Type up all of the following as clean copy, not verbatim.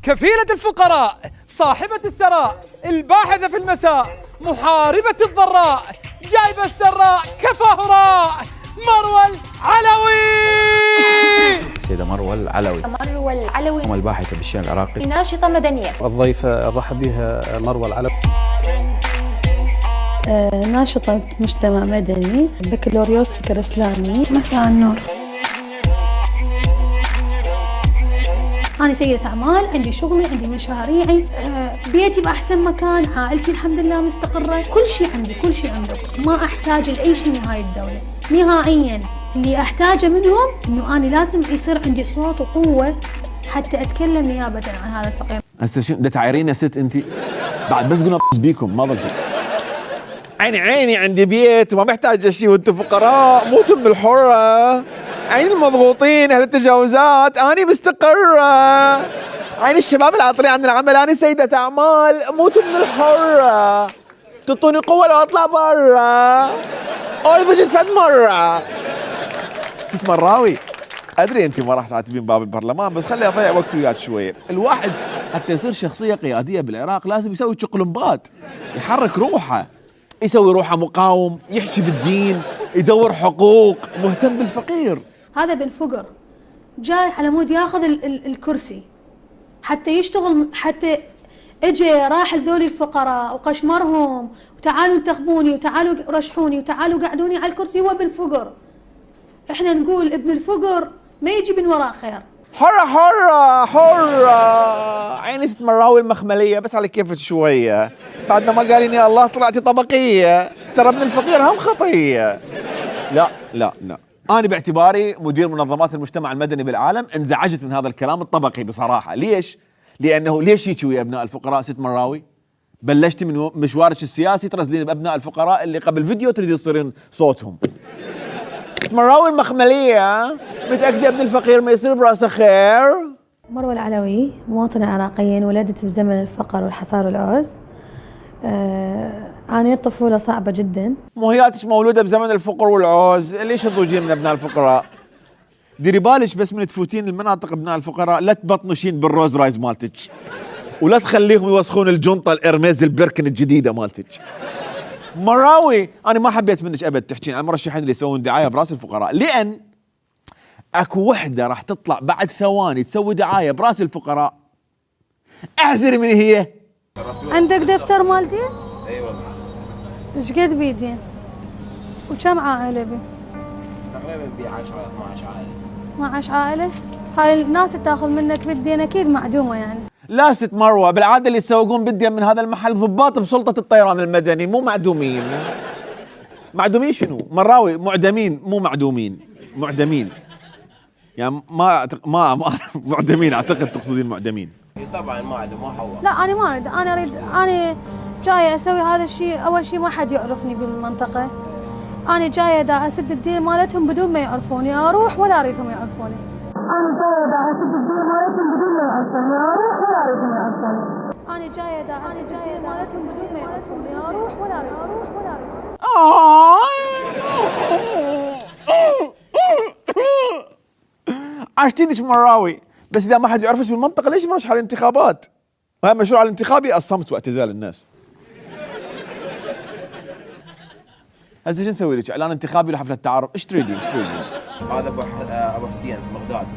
كفيلة الفقراء، صاحبة الثراء، الباحثة في المساء، محاربة الضراء، جايبة السراء، كفاه راء، مروى العلوي. السيدة مروى العلوي. مروى العلوي الباحثة بالشأن العراقي، ناشطة مدنية. الضيفة نرحب بها مروى العلوي. ناشطة مجتمع مدني، بكالوريوس فكر إسلامي. مساء النور. أنا سيدة أعمال، عندي شغلي، عندي مشاريعي، بيتي بأحسن مكان، عائلتي الحمد لله مستقرة، كل شيء عندي، كل شيء عندك، ما أحتاج لأي شيء من هاي الدولة نهائياً. اللي أحتاجه منهم إنه أنا لازم يصير عندي صوت وقوة حتى أتكلم نيابة عن هذا الفقير. هسه شنو ده تعايرين يا ست أنت؟ بعد بس قلنا بيكم ما ضل شيء. عيني عندي بيت وما محتاج شيء وأنتم فقراء، موتوا من الحرة. عين المضغوطين أهل التجاوزات، أنا مستقرة. عين الشباب العاطلين عن العمل، أنا سيدة أعمال، موتوا من الحرة. تعطوني قوة لو أطلع برا. ضجت فد مرة. ست مراوي، أدري أنت ما راح تعاتبين باب البرلمان، بس خلي أضيع وقت وياك شوية. الواحد حتى يصير شخصية قيادية بالعراق لازم يسوي تشقلمبات، يحرك روحه، يسوي روحه مقاوم، يحكي بالدين، يدور حقوق، مهتم بالفقير. هذا بن فقر جاي على مود ياخذ الكرسي حتى يشتغل، حتى اجى راح لذول الفقراء وقشمرهم وتعالوا انتخبوني وتعالوا رشحوني وتعالوا قعدوني على الكرسي. هو بن فقر. احنا نقول ابن الفقر ما يجي من وراء خير. حرة عيني ست مراوي المخملية، بس على كيفك شوية. بعد ما قال يا الله طلعتي طبقية، ترى ابن الفقير هم خطية. لا أنا باعتباري مدير منظمات المجتمع المدني بالعالم انزعجت من هذا الكلام الطبقي بصراحة. ليش؟ لأنه ليش هيك ويا أبناء الفقراء ست مراوي؟ بلشتي من مشوارك السياسي ترسلين بأبناء الفقراء اللي قبل فيديو تريدين تصيرين صوتهم. ست مراوي المخملية، متأكدة ابن الفقير ما يصير براسه خير؟ مروى العلوي مواطنة عراقية، ولدت في زمن الفقر والحصار والعوز. عانيت طفولة صعبة جدا. مو هياتش مولودة بزمن الفقر والعوز، ليش تضوجين من ابناء الفقراء؟ ديري بالك بس من تفوتين المناطق ابناء الفقراء لا تبطنشين بالروز رايز مالتك، ولا تخليهم يوسخون الجنطة الارميز البركن الجديدة مالتك. مراوي انا ما حبيت منك ابد تحكين عن المرشحين اللي يسوون دعاية براس الفقراء، لان اكو وحدة راح تطلع بعد ثواني تسوي دعاية براس الفقراء. احذري من هي. عندك دفتر مالتي؟ اي والله. ايش قد بيدين؟ وكم عائلة بي؟ تقريبا بي 10 12 عائلة. 12 عائلة؟ هاي الناس تاخذ منك بالدين اكيد معدومة يعني. لا ست مروة، بالعادة اللي يسوقون بالدين من هذا المحل ضباط بسلطة الطيران المدني، مو معدومين. معدومين شنو؟ مراوي معدمين مو معدومين، معدمين. يعني ما معدمين، اعتقد تقصدين معدمين. طبعا ما عاد ما حول. لا انا ما اريد، انا اريد، انا جايه اسوي هذا الشيء. اول شيء ما حد يعرفني بالمنطقه، انا جايه دا اسد الدين مالتهم بدون ما يعرفوني، اروح ولا اريدهم يعرفوني. انا جايه دا اسد الدين مالتهم بدون ما يعرفوني، اروح ولا اريدهم يعرفوني. انا جايه دا اسد الدين مالتهم بدون ما يعرفوني، اروح ولا اريد. عشتينش مراوي، بس اذا ما حد يعرفش بالمنطقه ليش مرشح على الانتخابات؟ وهي مشروع الانتخابي الصمت واعتزال الناس. هسه شو نسوي لك؟ اعلان انتخابي لحفله التعارف، ايش تريدين؟ هذا ابو حسين بغداد،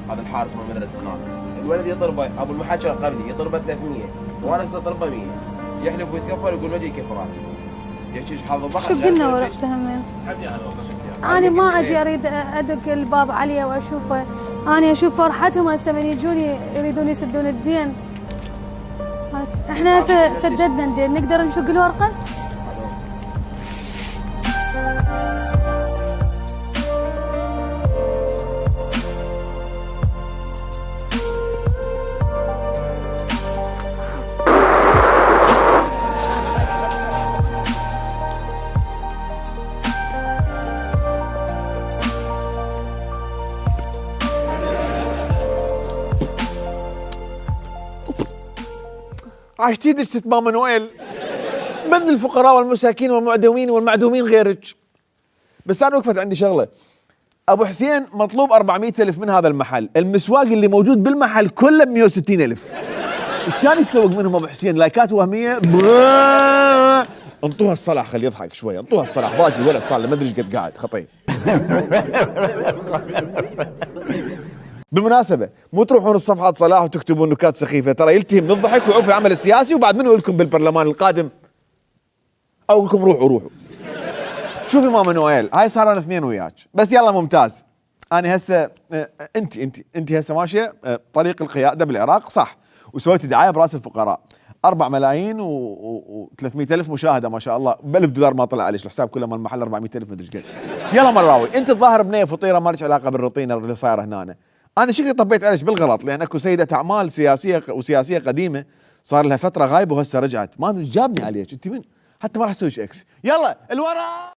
هذا الحارس من المدرسه هناك. الولد يطلبه، ابو المحاكي قبلي يطلبه 300، وانا هسه طلبه 100. يحلف ويتكفل يقول ما اجي كفراتي. شو قلنا ورحتها من؟ انا ما اجي اريد ادق الباب عليه واشوفه، انا اشوف فرحتهم هسه من يجوني يريدون يسدون الدين. احنا هسه سددنا الدين، نقدر نشق الورقه؟ عشتيدك ست ماما نويل، من الفقراء والمساكين والمعدومين غيرك. بس انا وقفت عندي شغله، ابو حسين مطلوب 400,000 من هذا المحل، المسواق اللي موجود بالمحل كله ب 160,000. ايش كان يسوق منهم ابو حسين؟ لايكات وهميه. انطوها الصلاح خليه يضحك شوي، انطوها الصلاح، باجي الولد صار له ما ادري ايش قد قاعد خطيب. بالمناسبة مو تروحون الصفحات صلاح وتكتبون نكات سخيفة، ترى يلتهي من الضحك ويعوف العمل السياسي، وبعد منو لكم بالبرلمان القادم؟ او لكم روحوا. شوفي ماما نويل، هاي صار لنا 2 وياك، بس يلا ممتاز. انا هسه انت هسه ماشية طريق القيادة بالعراق صح، وسويتي دعاية براس الفقراء، 4 ملايين و300,000 مشاهدة ما شاء الله، ب$1000 ما طلع عليك الحساب كله مال المحل 400,000 مدري ايش قد. يلا مراوي، انت الظاهر بنية فطيرة ما لك علاقة بالروتين اللي صايرة هنا. انا شكلي طبيت عليك بالغلط، لان اكو سيدة اعمال سياسية قديمة صار لها فترة غايبة وهسه رجعت، ما ادري جابني عليك، انت من حتى ما راح اسوي اكس. يلا الورا.